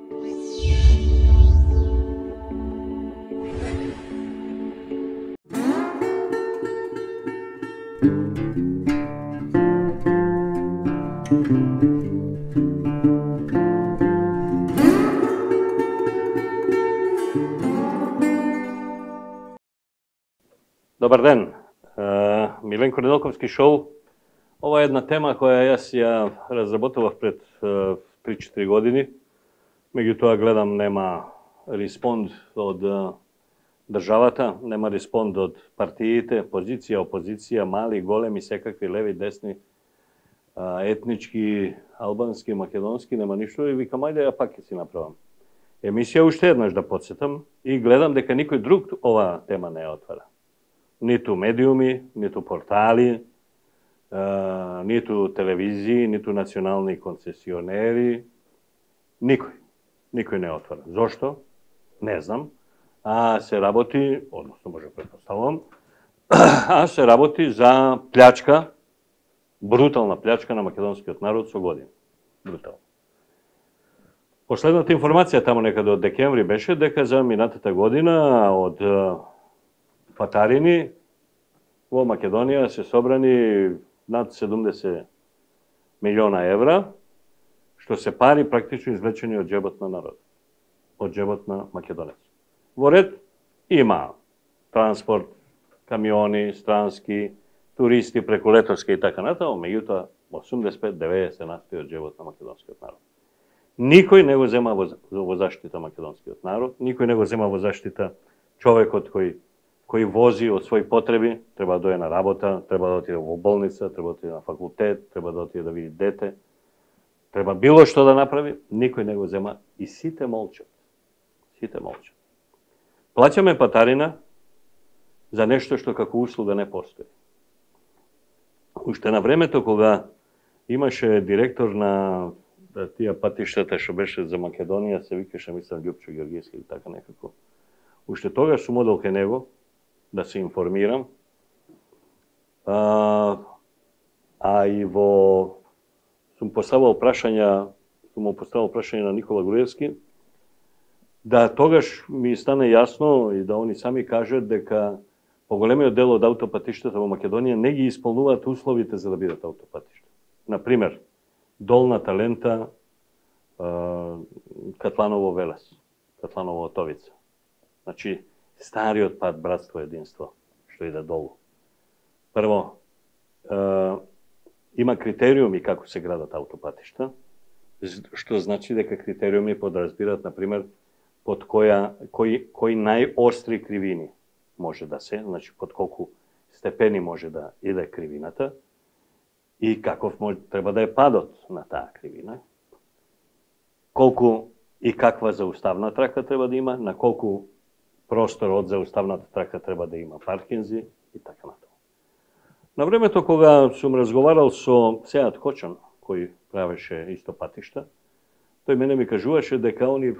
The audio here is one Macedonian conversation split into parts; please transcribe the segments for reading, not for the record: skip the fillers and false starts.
Добар ден, Миленко Неделковски шоу. Ова е една тема која јас ја разработував пред 3-4 години. Меѓутоа гледам нема респонд од државата, нема респонд од партиите, позиција, опозиција, мали, големи, секакви, леви, десни, етнички, албански, македонски, нема ништо и викам ајде ја пак ќе си направам емисија уште еднаш да потсетам и гледам дека никој друг ова тема не ја отвара. Ниту медиуми, ниту портали, ниту телевизии, ниту национални концесионери, никој не отвара. Зошто? Не знам. А се работи, односно може претпоставувам, се работи за плячка, брутална плячка на македонскиот народ со години. Брутално. Последната информација тамо некаде од декември беше дека за минатата година од патарини во Македонија се собрани над 70 милиона евра, што се пари практично извлечени од џебот на народ, од џебот на македонец. Во ред има транспорт, камиони, странски, туристи преку летоска и така натаму, меѓутоа 85-90% од џебот на македонскиот народ. Никој не го зема во заштита македонскиот народ, никој не го зема во заштита човекот кој вози од своји потреби, треба да дојде на работа, треба да отиде во болница, треба да отиде на факултет, треба да отиде да види дете, треба било што да направи, никој не го зема и сите молчат. Сите молчат. Плаќаме патарина за нешто што како услуга не постои. Уште на времето кога имаше директор на тие патиштата што беше за Македонија, се викаше, мислам, Љупчо Георгиевски или така некако. Уште тогаш сум одел кај него да се информирам, и сум поставил прашања на Никола Груевски, да тогаш ми стане јасно и да они сами кажат дека поголемиот дел од аутопатиштата во Македонија не ги исполнуваат условите за да бидат аутопатишта. Например, Долната лента Катланово-Велес, Катланово-Отовица. Значи, стариот пат Братство единство, што иде долу. Прво, има критериуми како се градат аутопатишта, што значи дека критериуми подразбират, например, под кои најостри кривини може да се, значи под колку степени може да иде кривината и каков треба да е падот на таа кривина, колку и каква зауставна трака треба да има, на колку простор од зауставната трака треба да има паркинзи и така натаму. На времето кога сум разговарал со Сеат Хочан, кој правеше исто патишта, тој мене ми кажуваше дека они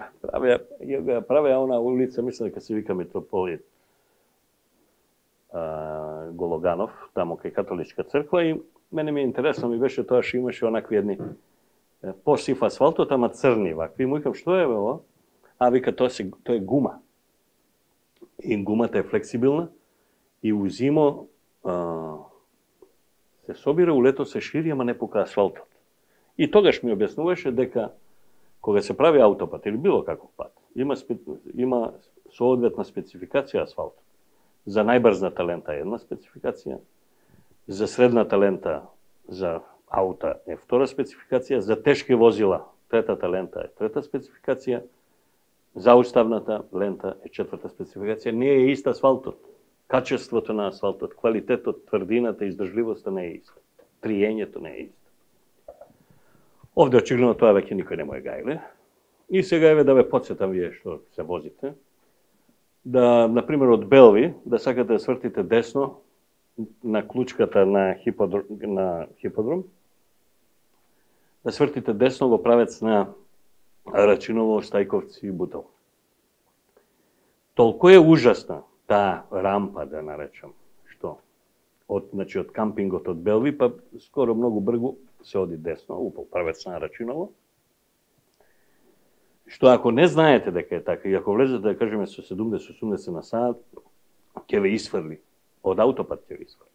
правеа она улица, мислам дека се вика Митрополит Гологанов, тамо кај католичка црква, и мене ми интересно ми беше тоа што имаше онакви едни посив асфалтот, ама црни вакви. Му викам, што е ова? А вика, тоа е гума. И гумата е флексибилна и у зимо се собира, у лето се шири, ама не пука асфалтот. И тогаш ми објаснуваше дека кога се прави аутопат или било каков пат, има соодветна спецификација асфалтот. За најбрзната лента е една спецификација, за средната лента за аута е втора спецификација, за тешки возила третата лента е трета спецификација, зауставната лента е четврта спецификација. Не е ист асфалтот. Качеството на асфалтот, квалитетот, тврдината, издржливоста не е иста. Триењето не е исто. Овде очигледно тоа веќе никој не му е гајле. И сега еве да ве потсетам вие што се возите, да, например, од Белви, да сакате да свртите десно на клучката на хиподром, да свртите десно во правец на Рачиново, Стајковци и Бутово. Толку е ужасна таа рампа, да наречам, што од кампингот од Белви, па скоро многу бргу се оди десно, во правец на Рачиново, што ако не знаете дека е така, и ако влезете, да кажеме, со 70-80 на сат, ќе ве исфрли. Од аутопат ќе ве исфрли.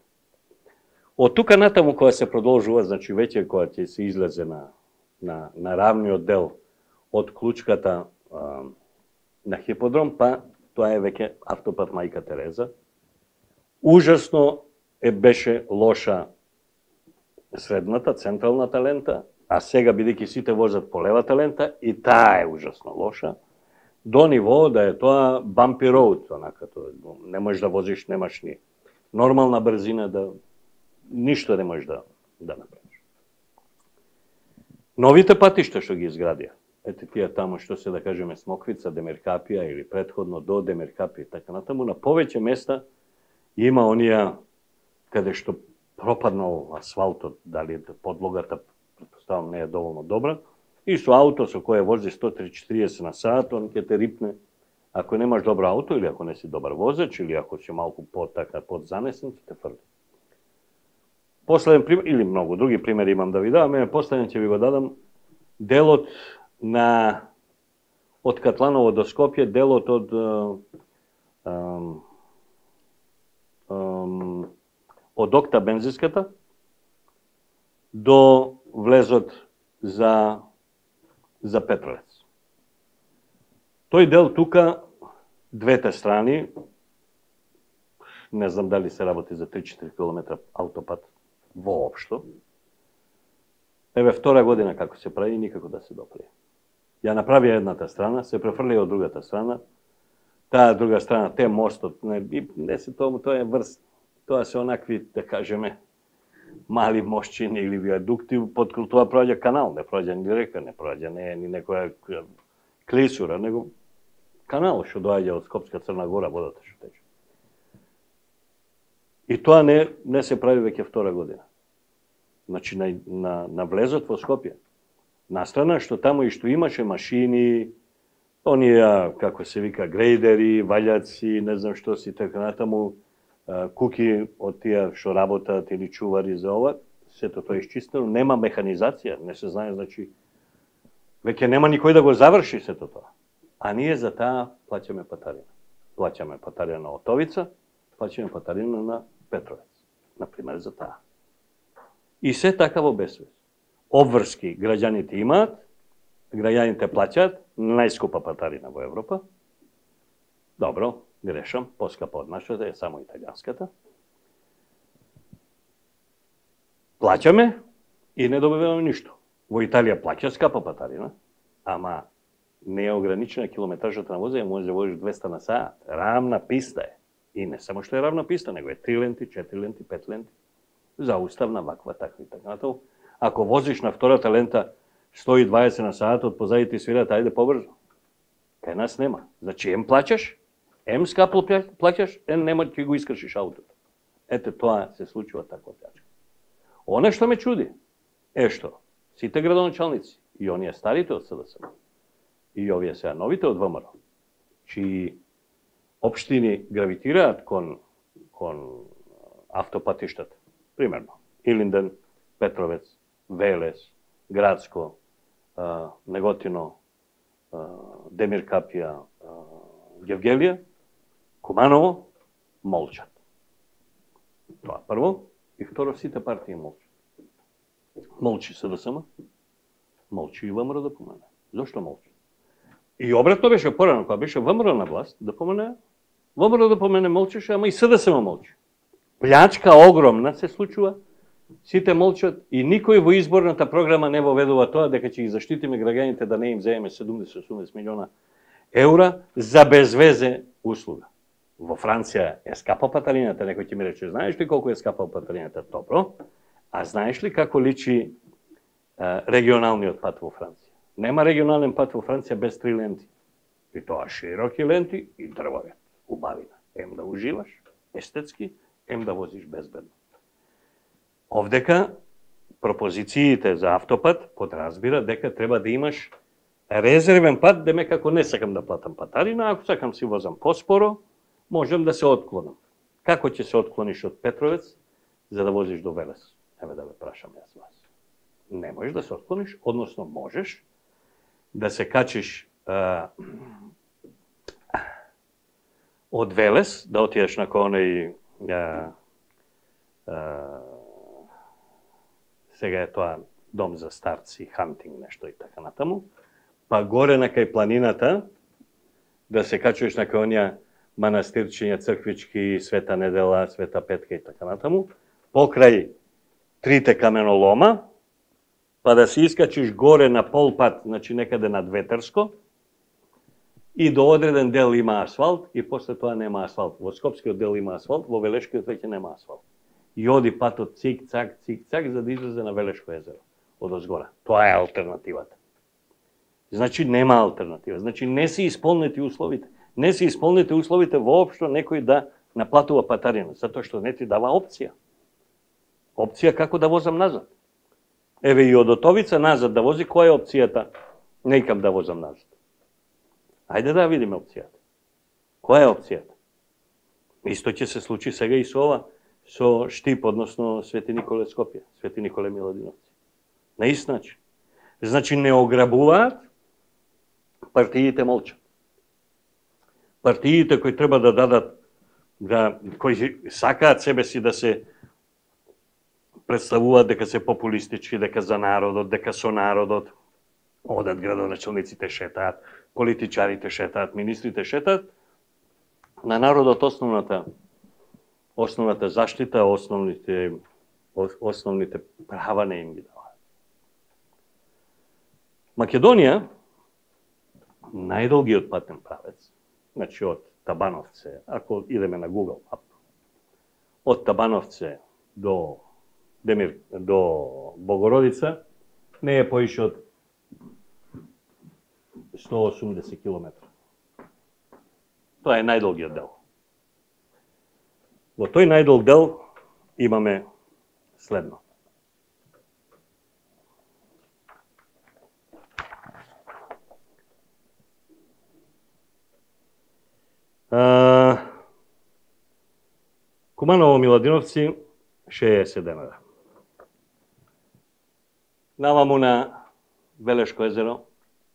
Од тука натаму, кога се продолжува, значи веќе кога ќе се излезе на равниот дел од Клучката на Хиподром, па тоа е веќе автопат Мајка Тереза. Ужасно беше лоша средната, централната лента, а сега, бидејќи сите возат по левата лента, и таа е ужасно лоша, до ниво да е тоа bumpy road, онака, не можеш да возиш, немаш ни нормална брзина, да ништо не можеш да направиш. Новите патишта што ги изградија, ете тие таму што се, да кажеме, Смоквица, Демиркапија или претходно до Демиркапија, така натаму, на повеќе места има онија каде што пропаднал асфалтот, дали подлогата, претпоставам, не е доволно добра, и со ауто со кое вози 130-40 на сат, он ќе те рипне. Ако немаш добро ауто, или ако не си добар возач, или ако си малку подзанесен, ќе те фрли. Последен пример, или многу други примери имам да ви дадам, последен ќе ви го дадам, делот од Катланово до Скопје, делот од Окта бензинската до влезот за Петровец. Тој дел тука, двете страни, не знам дали се работи за 3-4 км аутопат воопшто. Еве втора година како се прави, никако да се допре. Ја направија едната страна, се префрли од другата страна, таа друга страна, те мостот, не се тоа е врст, тоа се онакви, да кажеме, мали мостчини или виадукти, под тоа проаѓа канал, не проаѓа ни река, не проаѓа ни некоја клисура, него канал што доаѓа од Скопска Црна Гора, водата што тече. И тоа не се прави веќе втора година. Значи, на влезот во Скопје. Настрана што таму и што имаше машини, оние, како се вика, грейдери, валјаци, не знам што си, така натаму, куки од тие што работат или чувари за ова, сето тоа е исчистено, нема механизација, не се знае, значи, веќе нема никој да го заврши сето тоа. А ние за таа плаќаме патарина. Плаќаме патарина на Отовица, плаќаме патарина на Петровец, например, за таа. И се така во безвест. Обврски граѓаните имаат, граѓаните плаќаат, најскупа патарина во Европа. Добро, грешам, поскапа од нашата е само италијанската. Плаќаме и не добиваме ништо. Во Италија плаќа скапа патарина, ама не е ограничена километражата на возење, може да возиш 200 на сат. Рамна писта е. И не само што е равна писта, него е 3 ленти, 4 ленти, 5 ленти. Зауставна, ваква, таква и така натаму. Ако возиш на втората лента 120 на сатот, позади ти свират, ајде побрзо. Кај нас нема. Значи, плаќаш, скапо плаќаш, нема ќе го искршиш аутото. Ете, тоа се случува така плачка. Оне што ме чуди е што сите градоначалници, и оние старите од СДСМ, и овие сега новите од ВМРО, чии општини гравитираат кон автопатиштата, примерно, Илинден, Петровец, Велес, Градско, Неготино, Демиркапија, Гевгелија, Куманово, молчат. Тоа прво, и второ, сите партии молчат. Молчи СДСМ, молчи и ВМРО да помене. Зошто молчи? И обратно беше порано, кога беше ВМРО на власт, да помене, ВМРО да помене молчеше, ама и СДСМ молчи. Плячка огромна се случува, сите молчат и никој во изборната програма не воведува тоа дека ќе ги заштитиме граѓаните да не им земеме 70-80 милиона евра за безвезе услуга. Во Франција е скапа патарината, некој ќе ми рече, знаеш ли колку е скапа патарината? Добро. А знаеш ли како личи регионалниот пат во Франција? Нема регионален пат во Франција без 3 ленти. И тоа широки ленти и дрвове, убавина. Ем да уживаш, естетски, ем да возиш безбедно. Овдека пропозициите за автопат подразбира дека треба да имаш резервен пат, деме како не сакам да платам патарина, ако сакам си возам поспоро, можам да се отклонам. Како ќе се отклониш од Петровец за да возиш до Велес? Еве да ве прашам јас вас. Не можеш да се отклониш, односно можеш да се качиш од Велес, да отидеш на кој сега е тоа дом за старци, хантинг, нешто и така натаму, па горе на кај планината, да се качуваш на кај онија манастирчиња, црквички, Света Недела, Света Петка и така натаму, покрај трите каменолома, па да се искачиш горе на полпат, значи некаде над Ветерско, и до одреден дел има асфалт, и после тоа нема асфалт. Во Скопскиот дел има асфалт, во Велешкиот веќе нема асфалт. И оди патот цик-цак, за да излезе на Велешко езеро, од озгора. Тоа е алтернативата. Значи нема алтернатива. Значи не се исполнети условите. Не се исполнети условите воопшто некој да наплатува патарина, затоа што не ти дава опција. Опција како да возам назад. Еве и од Отовица назад да вози, која е опцијата? Не икам да возам назад. Ајде да видиме опцијата. Која е опцијата? Исто ќе се случи сега и со ова, со Штип, односно Свети Николе Скопје, Свети Николе Миладиновци. На ист начин. Значи не ограбуваат, партиите молчат. Партиите кои треба да дадат, кои сакаат себе си да се представуваат дека се популистички, дека за народот, дека со народот, одат градоначалниците шетаат, политичарите шетаат, министрите шетаат, на народот основната заштита, основните права не им ги даваат. Македонија, најдолгиот патен правец, значи од Табановце, ако идеме на Google Map, од Табановце до Богородица, не е поише од 180 км. Тоа е најдолгиот дел. Во тој најдолг дел имаме следно. Куманово Миладиновци 60 денара. Наваму на Велешко езеро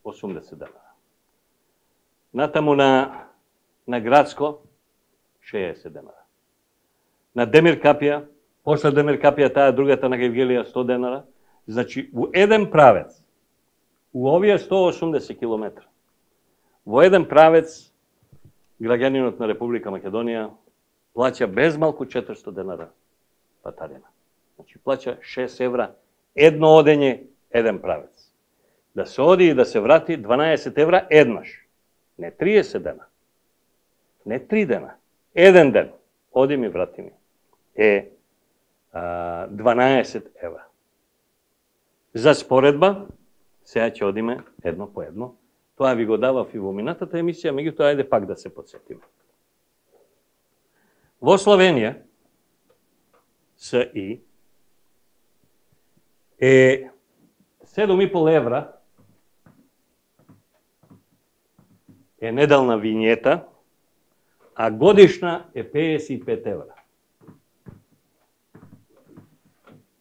80 денара. Натаму на Градско 60 денара. На Демир Капија, после Демир Капија таа другата на Гевгелија 100 денара. Значи у еден правец, у овие 180 км, во еден правец граѓанинот на Република Македонија плаќа безмалку 400 денара патарина. Значи плаќа 6 евра едно одење, еден правец. Да се оди и да се врати 12 евра еднаш. Не 30 дена. Не 3 дена. Еден ден. Оди ми, врати ми. 12 евра. За споредба, сега ќе одиме едно по едно. Тоа ви го давав и во минатата емисија, меѓутоа ајде пак да се подсетиме. Во Словенија, СИ, е 7,5 евра е неделна винјета, а годишна е 55 евра.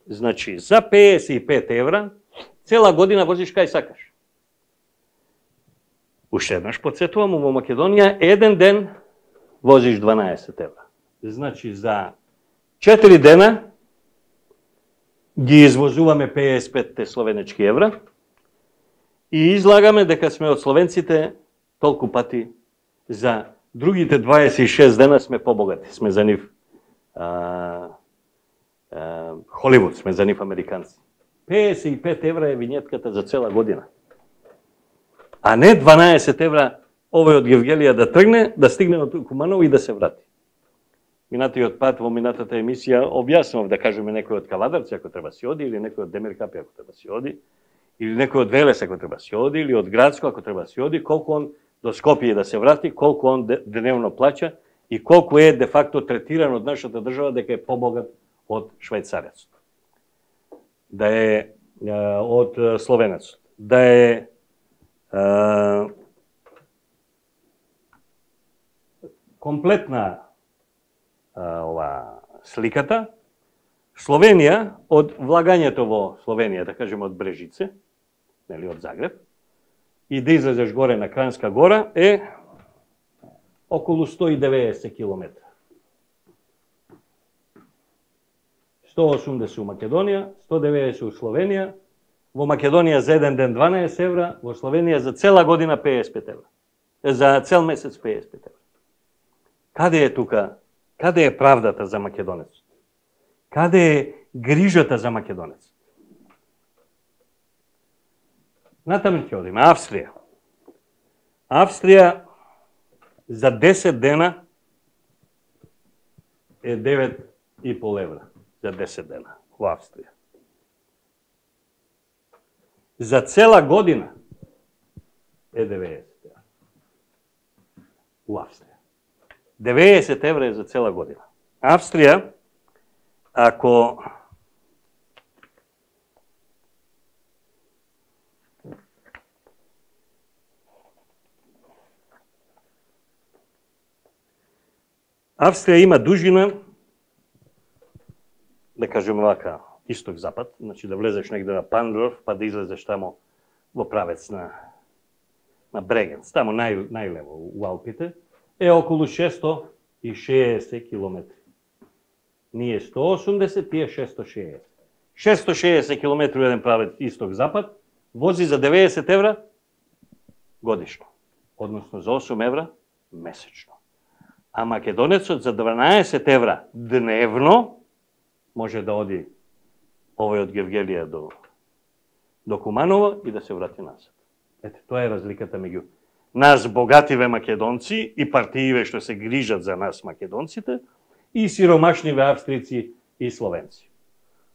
Значи, за 55 евра, цела година возиш кај сакаш. Уште еднаш подсетувам, во Македонија еден ден возиш 12 евра. Значи, за 4 дена ги извозуваме 55 словенечки евра и излагаме дека сме од словенците толку пати, за другите 26 дена сме побогати. Сме за нив Холивуд, сме за нив американци. 55 евра е винетката за цела година. А не 12 евра овој од Гевгелија да тргне, да стигне до Куманово и да се врати. Минатиот пат во минатата емисија објаснував, да кажеме, некој од Кавадарци ако треба си оди, или некој од Демир Капија ако треба си оди, или некој од Велес ако треба си оди, или од Градско ако треба си оди, колку он до Скопје да се врати, колку он дневно плаќа и колку е де факто третиран од нашата држава дека е побогат од швајцарецот. Да е од словенецот. Да е комплетна сликата. Словенија, од влагањето во Словенија, да кажеме од Брежице, нели, од Загреб, и да излезеш горе на Кранска гора е околу 190 километра. 180 у Македонија, 190 у Словенија, во Македонија за еден ден 12 евра, во Словенија за цела година 55 евра. За цел месец 55 евра. Каде е тука? Каде е правдата за македонецот? Каде е грижата за македонецот? Натаму ќе одиме. Австрија. Австрија за 10 дена е 9,5 евра. За 10 дена во Австрија. За цела година е 90 евра. У Австрија. 90 евра е за цела година. Австрија, ако Австрија има дужина, да кажеме вака, исток-запад, значи да влезеш негде на Пандорф, па да излезеш тамо во правец на Брегенц, тамо најлево у Алпите, е околу 660 километри. Ние 180, тие 660. 660 километри еден правец исток-запад, вози за 90 евра годишно, односно за 8 евра месечно. А македонецот за 12 евра дневно може да оди овој од Гевгелија до Куманово и да се врати назад. Ете, тоа е разликата меѓу нас богативе македонци и партииве што се грижат за нас македонците и сиромашниве австрици и словенци.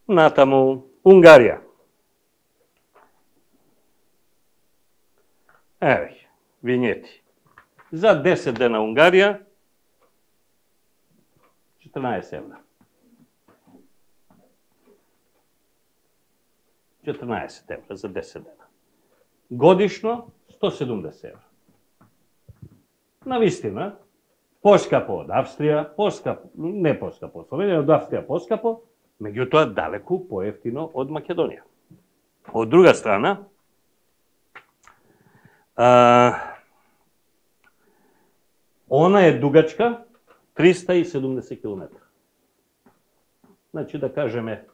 Натаму Унгарија. Еве, винјети. За 10 дена Унгарија 14 евра. 14 евра за 10 дена. Годишно 170 евра. Навистина, поскапо од Австрија, не поскапо од Словенија, од Австрија поскапо, меѓутоа далеку поевтино од Македонија. Од друга страна, она е дугачка 370 км. Значи, да кажеме,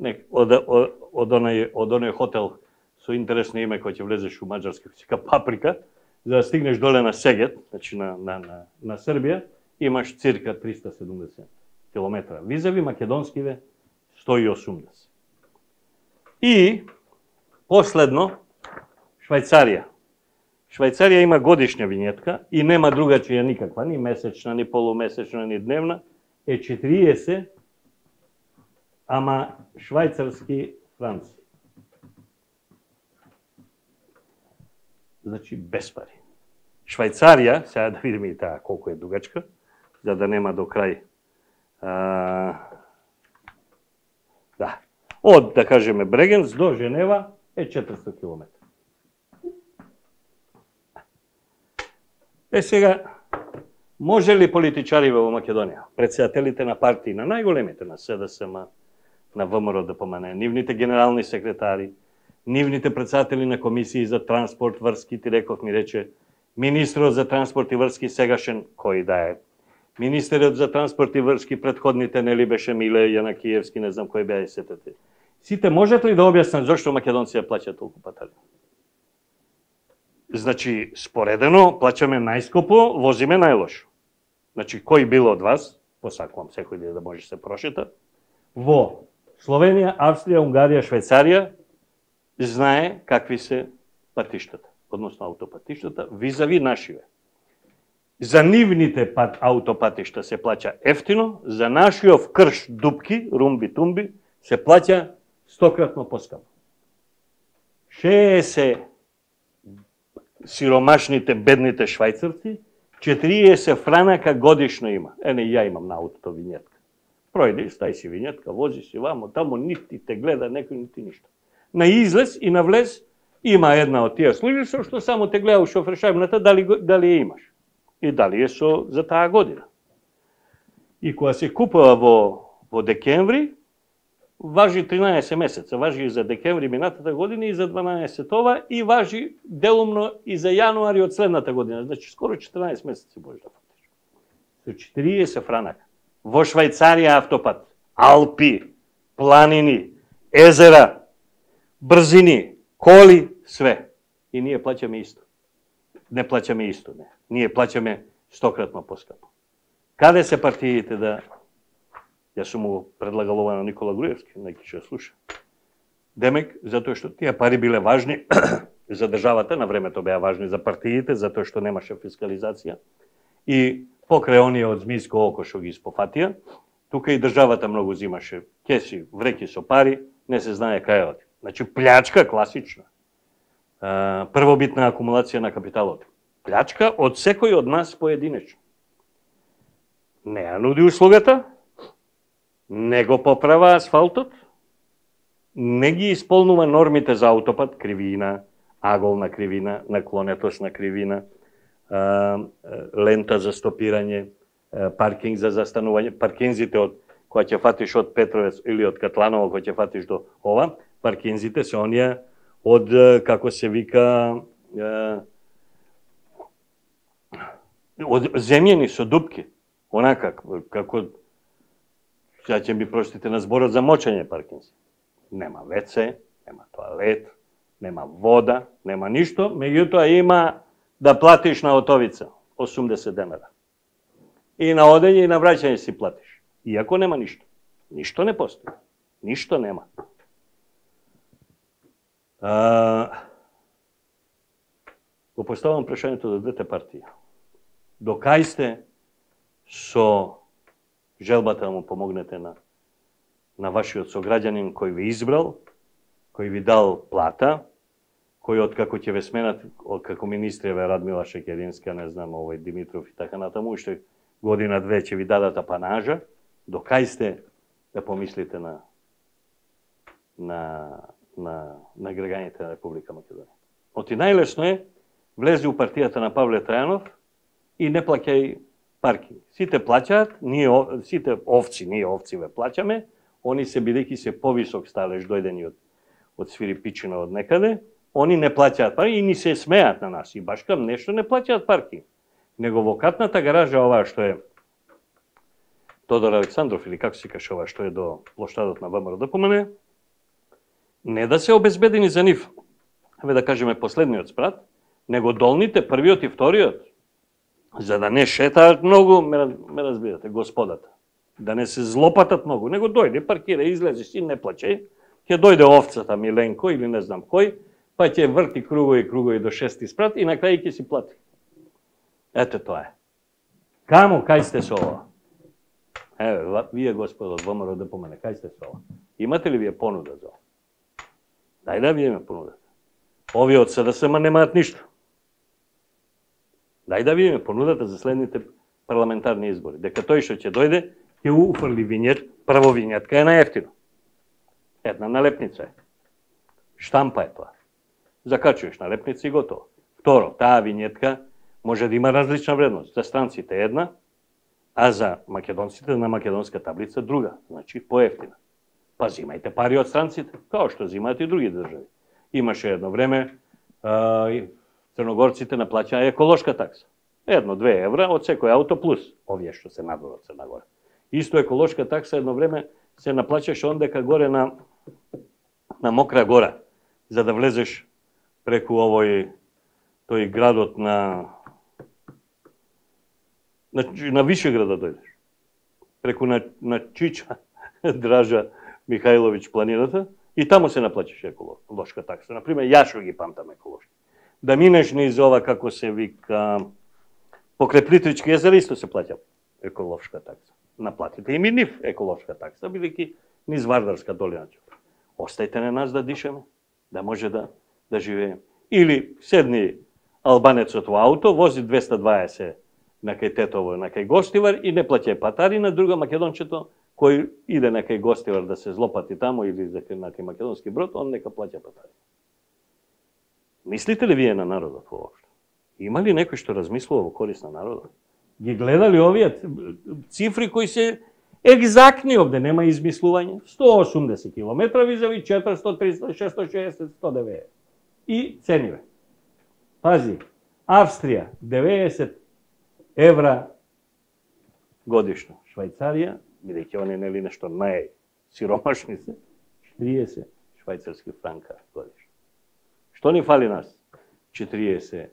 од оној хотел со интересно име кој ќе влезеш у Маđarска, кој се Паприка, за да стигнеш доле на Сегет, значи на Србија, имаш цирка 370 км. Визави македонскиве 180. И последно, Швајцарија. Швајцарија има годишна винјетка и нема другачија никаква, ни месечна, ни полумесечна, ни дневна, е 40, ама швајцарски франци. Значи, без пари. Швајцарија, сега да видиме и таа колку е дугачка, за да нема до крај. Да. Од, да кажеме, Брегенц до Женева е 400 км. Сега, може ли политичари во Македонија, председателите на партии, на најголемите, на СДСМ, на ВМРО ДПМН, нивните генерални секретари, нивните председатели на комисии за транспорт, врски, ти реков ми рече, министрот за транспорт и врски сегашен, кој да е, министерот за транспорт и врски предходните, нели беше Миле Јанакиевски, не знам кој беа и сетете. Сите можете ли да објаснат зошто македонци ја плаќаат толку патали? Значи, споредено, плаќаме најскопо, возиме најлошо. Значи, кој бил од вас, посакувам секој ден да може се прошета, во Словенија, Австрија, Унгарија, Швајцарија, знае какви се патиштата, односно аутопатиштата, визави нашиве. За нивните аутопатишта се плаќа ефтино, за нашиов крш, дупки, румби-тумби, се плаќа стократно поскапо. 60 сиромашните, бедните швајцарци, 40 франака годишно има. Ене, ја имам на аутото винјетка. Пројди, стај си винјетка, вози си вамо, тамо нити те гледа некој, нити ништо. На излез и на влез има една од тие служби што само те гледа у шофершајбната дали ја имаш и дали е за таа година. И кога се купува во декември, важи 13 месеца, важи и за декември минатата година и за 12 ова и важи делумно и за јануари од следната година. Значи скоро 14 месеци можеш да фатиш. Со 40 франака. Во Швајцарија автопат, Алпи, планини, езера, брзини, коли, све. И ние плаќаме исто. Не плаќаме исто, не. Ние плаќаме стократно поскапо. Каде се партиите да... Јас сум му предлагал ова на Никола Груевски, неки ќе слуша. Демек, затоа што тие пари биле важни за државата, на времето беа важни за партиите, затоа што немаше фискализација. И покрај оние од змиско око што ги испофатија, тука и државата многу зимаше кеси, вреки со пари, не се знае кај оди. Значи, плячка класична. Првобитна акумулација на капиталот. Плячка од секој од нас поединечно. Не ја нуди услугата, не го поправа асфалтот, не ги исполнува нормите за аутопат, кривина, аголна кривина, наклонетосна кривина, лента за стопирање, паркинг за застанување, паркинзите од која ќе фатиш од Петровец или од Катланово која ќе фатиш до ова, паркинзите се оние од, како се вика, од земјени со дупки, онака, како, сега ќе ми простите на зборот за мочење паркинзи. Нема WC, нема тоалет, нема вода, нема ништо, меѓутоа има да платиш на отовица 80 денара. И на одење и на враќање си платиш. Иако нема ништо. Ништо не постои. Ништо нема. Го поставам прашањето за двете партии. До кај сте со желбата да му помогнете на вашиот сограѓанин кој ви избрал, кој ви дал плата, кој откако ќе ве сменат, како министри ве Радмила Шекеринска, не знам, овој Димитров и така натаму, уште година-две ќе ви дадат апанажа, до кај сте да помислите на граѓаните на Република Македонија. Оти најлесно е, влези у партијата на Павле Трајанов и не плаќај паркинг. Сите плаќаат, сите овци, ние овци ве плаќаме, они се бидејќи се повисок сталеж дојдени од Свирипичина од некаде, они не плаќаат паркинг и ни се смеат на нас. И баш кам нешто не плаќаат паркинг. Него во катната гаража оваа што е Тодор Александров или како се каже ова што е до плоштадот на ВМРО ДПМН, не да се обезбедени за нив, да кажеме последниот спрат, него долните, првиот и вториот, за да не шетаат многу, ме разбирате, господата. Да не се злопатат многу, него дојде, паркира, излезе си, не плаче, ќе дојде овцата Миленко или не знам кој, па ќе врти кругови до 6 спрат и на крај ќе си плати. Ете тоа е. Каму, кај сте со ова? Еве, вие господа од ВМРО ДПМН, кај сте со ова? Имате ли вие понуда за ова? Дај да вие ме понудате. Овие од СДСМ немаат ништо. Дај да ви ме понудате за следните парламентарни избори. Дека тој што ќе дојде, ќе уфрли винјет, прво винјетка е наевтино. Една налепница е. Штампа е тоа. Закачуваш налепница и готово. Второ, таа винјетка може да има различна вредност. За странците една, а за македонците на македонска таблица друга. Значи поевтина. Па зимајте пари од странците, као што зимаат и други држави. Имаше едно време, црногорците наплаќаа еколошка такса. 1-2 евра од секој ауто плюс овие што се надвор од Црна Гора. Исто еколошка такса едно време се наплаќаше ондека горе на Мокра гора, за да влезеш преку тој градот на Вишеград да дојдеш. Преку на Чича, Дража Михајловиќ планината, и таму се наплаќаше еколошка такса. Например, ја што ги памтам еколошки. Да минеш низ ова, како се вика, покрај Плитвички езера, исто се плаќа еколошка такса. Наплатите им и нив еколошка такса, бидејќи низ Вардарска долина. Остајте на нас да дишеме, да може да живееме. Или седни албанецот во ауто, вози 220 на кај Тетово, на кај Гостивар и не плаќа патари, на друга македончето кој иде на кај Гостивар да се злопати таму или на кај Македонски Брод, он нека плаќа патари. Мислите ли вие на народот воопшто? Има ли некој што размислува во корист на народот? Ги гледали овие цифри кои се Екзактни овде, нема измислување. 180 км визави 400, 300, 660, 190. И цениве. Пази, Австрија 90 евра годишно. Швајцарија, бидејќи они нели нешто најсиромашни се, 30 швајцарски франка годишно. Што ни фали нас? 40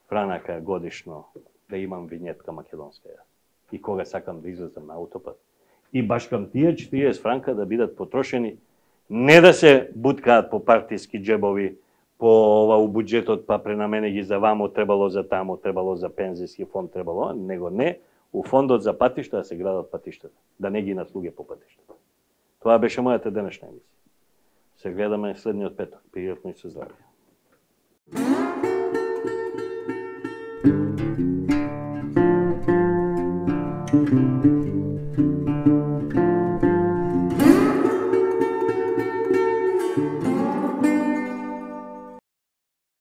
франака годишно да имам винетка македонска ја. И кога сакам да излезам на аутопат. И баш кам тие 40 франка да бидат потрошени, не да се буткаат по партиски џебови, по ова у буџетот, па пренамени ги за вамо, требало за тамо, требало за пензијски фонд, требало, него не, у фондот за патишта да се градат патиштата, да не ги наслуге по патиштата. Тоа беше мојата денешна емисија. Се гледаме следниот петок. Пријатно и со здравје.